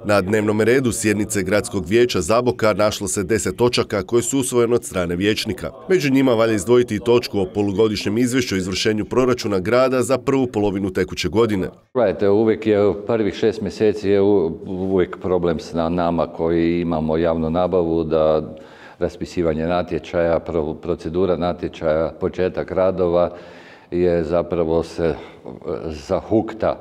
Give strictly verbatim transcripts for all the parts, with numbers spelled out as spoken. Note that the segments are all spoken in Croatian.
Na dnevnom redu sjednice Gradskog vijeća Zaboka našlo se deset točaka koje su usvojene od strane vijećnika. Među njima valja izdvojiti i točku o polugodišnjem izvješću o izvršenju proračuna grada za prvu polovinu tekuće godine. Gledajte, uvijek je prvih šest mjeseci je uvijek problem s nama koji imamo javnu nabavu, da raspisivanje natječaja, procedura natječaja, početak radova je zapravo se zahukta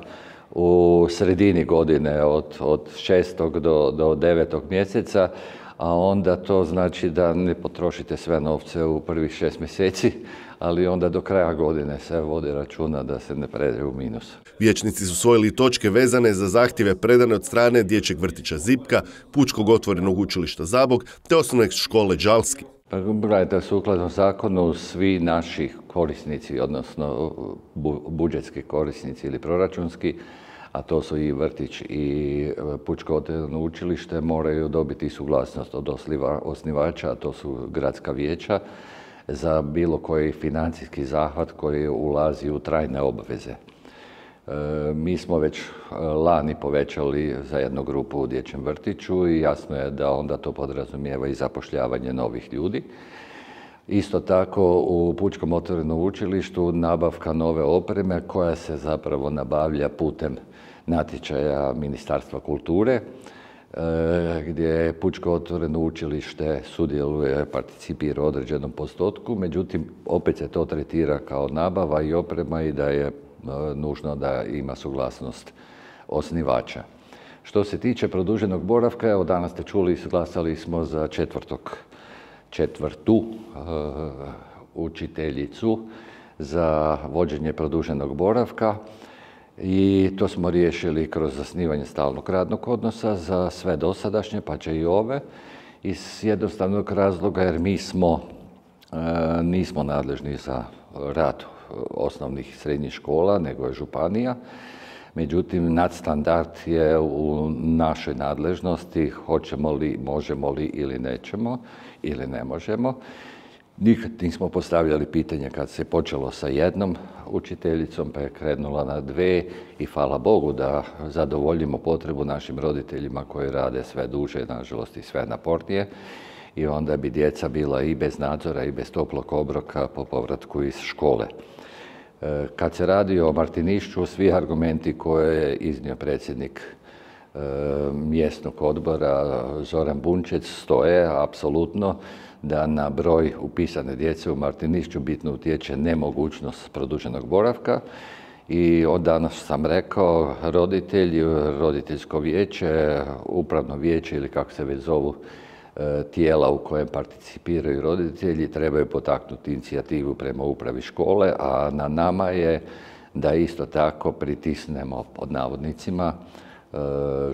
u sredini godine od, od šestog do, do devetog mjeseca, a onda to znači da ne potrošite sve novce u prvih šest mjeseci, ali onda do kraja godine se vodi računa da se ne pređe u minus. Vijećnici su usvojili točke vezane za zahtjeve predane od strane Dječjeg vrtića Zipka, Pučkog otvorenog učilišta Zabok te osnovne škole Đalski. Gledajte, sukladno zakonu svi naši korisnici, odnosno budžetski korisnici ili proračunski, a to su i vrtić i Pučko otvoreno učilište, moraju dobiti suglasnost od osnivača, a to su gradska vijeća, za bilo koji financijski zahvat koji ulazi u trajne obveze. E, mi smo već lani povećali za jednu grupu u dječjem vrtiću i jasno je da onda to podrazumijeva i zapošljavanje novih ljudi. Isto tako u Pučkom otvorenom učilištu nabavka nove opreme koja se zapravo nabavlja putem natječaja Ministarstva kulture, gdje Pučko otvoreno učilište sudjeluje, participira u određenom postotku, međutim opet se to tretira kao nabava i oprema i da je nužno da ima suglasnost osnivača. Što se tiče produženog boravka, evo danas ste čuli, glasali smo za četvrtog, četvrtu uh, učiteljicu za vođenje produženog boravka. I to smo riješili kroz zasnivanje stalnog radnog odnosa za sve dosadašnje, pa će i ove, iz jednostavnog razloga jer mi smo, e, nismo nadležni za rad osnovnih i srednjih škola, nego je županija. Međutim, nadstandard je u našoj nadležnosti, hoćemo li, možemo li ili nećemo, ili ne možemo. Nikad nismo postavljali pitanje kad se počelo sa jednom učiteljicom, pa je krenula na dve i hvala Bogu da zadovoljimo potrebu našim roditeljima koji rade sve duže, nažalost i sve napornije. I onda bi djeca bila i bez nadzora i bez toplog obroka po povratku iz škole. Kad se radi o Martinišću, svi argumenti koje je iznio predsjednik mjesnog odbora Zoran Bunčec stoje apsolutno da na broj upisane djece u Martinišću bitno utječe nemogućnost produženog boravka i od danas sam rekao roditelji, roditeljsko vijeće, upravno vijeće ili kako se već zovu tijela u kojem participiraju roditelji trebaju potaknuti inicijativu prema upravi škole, a na nama je da isto tako pritisnemo pod navodnicima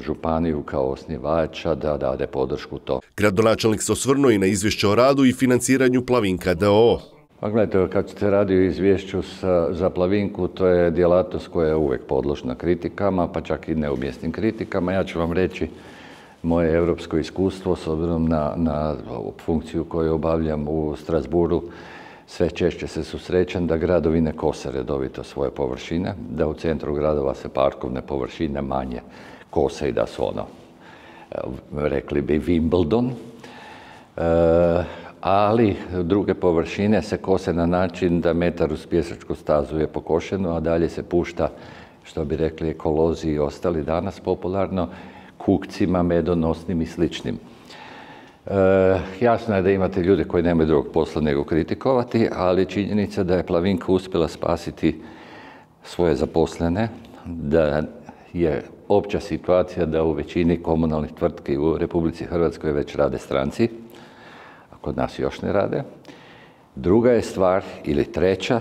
županiju kao osnivača da dade podršku to. Gradonačelnik se osvrnuo i na izvješće o radu i financiranju Plavinka d o o. Pa gledajte, kad se radi o izvješću sa, za Plavinku, to je djelatnost koja je uvijek podložna kritikama, pa čak i neumjesnim kritikama. Ja ću vam reći moje europsko iskustvo s obzirom na, na funkciju koju obavljam u Strasbourgu. Sve češće se susrećem da gradovi ne kose redovito svoje površine, da u centru gradova se parkovne površine manje kose i da su ono, rekli bi Wimbledon, e, ali druge površine se kose na način da metar uz pješačku stazu je pokošeno, a dalje se pušta, što bi rekli ekolozi i ostali danas popularno, kukcima, medonosnim i sličnim. E, jasno je da imate ljude koji nemaju drugog posla nego kritikovati, ali činjenica da je Plavinka uspjela spasiti svoje zaposlene, da je opća situacija da u većini komunalnih tvrtki u Republici Hrvatskoj već rade stranci, a kod nas još ne rade. Druga je stvar, ili treća,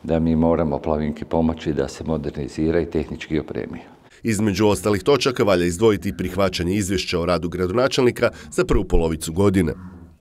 da mi moramo Plavinki pomoći da se modernizira i tehnički opremi. Između ostalih točaka valja izdvojiti prihvaćanje izvješća o radu gradonačelnika za prvu polovicu godine.